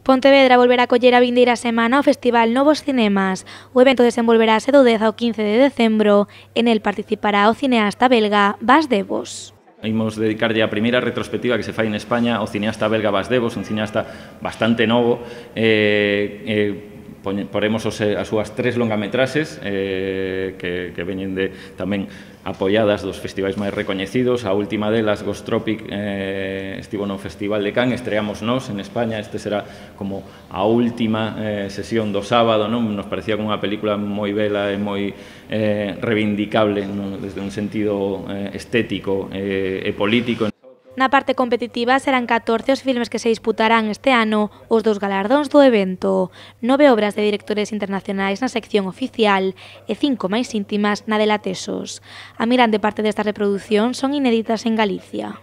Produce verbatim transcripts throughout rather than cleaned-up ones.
Pontevedra volverá a coller a vindeira semana o Festival Novos Cinemas. O evento desenvolverase do dez ao quince de decembro. En el participará o cineasta belga Bas Devos. Imos dedicarlle a primeira retrospectiva que se fai en España ao cineasta belga Bas Devos, un cineasta bastante novo. Eh, eh, poremos os, as súas tres longametraxes eh, que, que veñen de, tamén apoiadas dos festivais máis recoñecidos. A última delas, Ghost Tropic, eh, estivo no Festival de Cannes, estreamos nós en España. Este será como a última eh, sesión do sábado, non? Nos parecía como unha película moi bela e moi eh, reivindicable, non? Desde un sentido eh, estético eh, e político. Na parte competitiva serán catorce os filmes que se disputarán este ano os dous galardóns do evento, nove obras de directores internacionais na sección oficial e cinco máis íntimas na de Latesos. A mirande parte desta reproducción son inéditas en Galicia.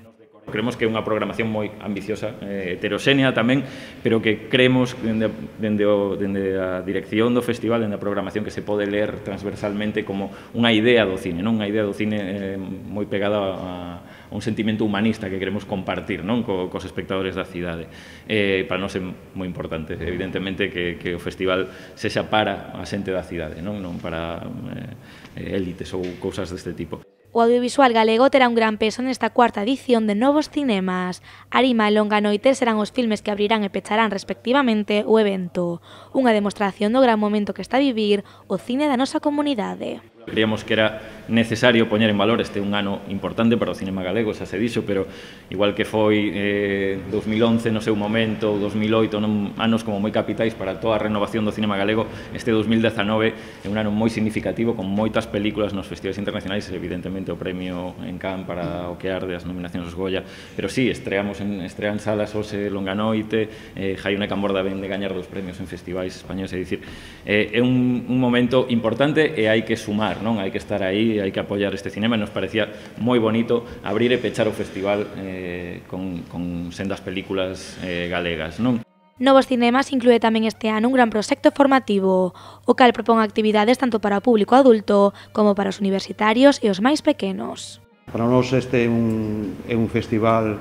Creemos que é unha programación moi ambiciosa, eh, heteroxénea tamén, pero que creemos dende, dende, o, dende a dirección do festival, dende a programación, que se pode ler transversalmente como unha idea do cine, non? Unha idea do cine eh, moi pegada a, a un sentimento humanista que queremos compartir, non? Co, cos espectadores da cidade. Eh, para nós é moi importante, evidentemente, que, que o festival sexa para a xente da cidade, non, non para eh, élites ou cousas deste tipo. O audiovisual galego terá un gran peso nesta cuarta edición de Novos Cinemas. Arima e Longa Noite serán os filmes que abrirán e pecharán respectivamente o evento. Unha demostración do gran momento que está a vivir o cine da nosa comunidade. Creíamos que era necesario poñer en valor este un ano importante para o cinema galego, xa se dixo, pero igual que foi eh, dos mil once no seu momento, ou dos mil oito, non, anos como moi capitais para toda a renovación do cinema galego, este dos mil dezanove é un ano moi significativo, con moitas películas nos festivais internacionais, evidentemente o premio en Cannes para o que arde, as nominacións aos Goya, pero sí, estreamos en, estrean salas hoxe Longa Noite, eh, Jaione Camborda ven de gañar dos premios en festivais españoles, é dicir, eh, é un, un momento importante e hai que sumar, non? Hai que estar aí, hai que apoiar este cinema, e nos parecía moi bonito abrir e pechar o festival eh, con, con sendas películas eh, galegas, non? Novos Cinemas inclúe tamén este ano un gran proxecto formativo, o cal propón actividades tanto para o público adulto como para os universitarios e os máis pequenos. Para nós este é un, é un festival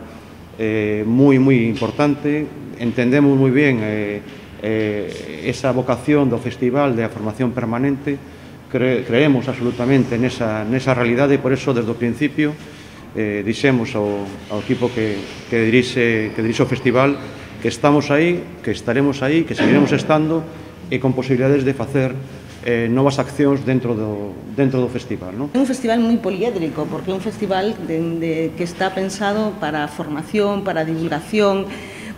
eh, moi, moi importante, entendemos moi ben eh, eh, esa vocación do festival de a formación permanente. Cre creemos absolutamente nesa, nesa realidade, e por eso, desde o principio, eh, dixemos ao, ao equipo que, que, dirixe, que dirixe o festival que estamos aí, que estaremos aí, que seguiremos estando, e con posibilidades de facer eh, novas accións dentro do, dentro do festival, non? É un festival moi poliédrico, porque é un festival de, de, que está pensado para a formación, para a divulgación,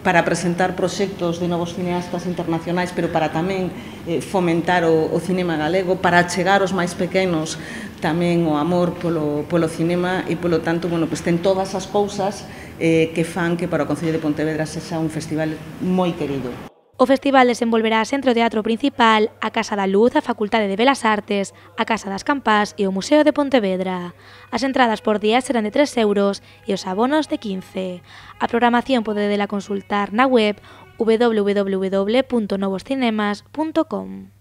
para presentar proxectos de novos cineastas internacionais, pero para tamén eh, fomentar o, o cinema galego, para achegar os máis pequenos tamén o amor polo, polo cinema, e polo tanto, bueno, pues ten todas as cousas eh, que fan que para o Concello de Pontevedra sexa un festival moi querido. O festival desenvolverase entre o Teatro Principal, a Casa da Luz, a Facultade de Belas Artes, a Casa das Campás e o Museo de Pontevedra. As entradas por día serán de tres euros e os abonos de quince. A programación podedela consultar na web w w w punto novos cinemas punto com.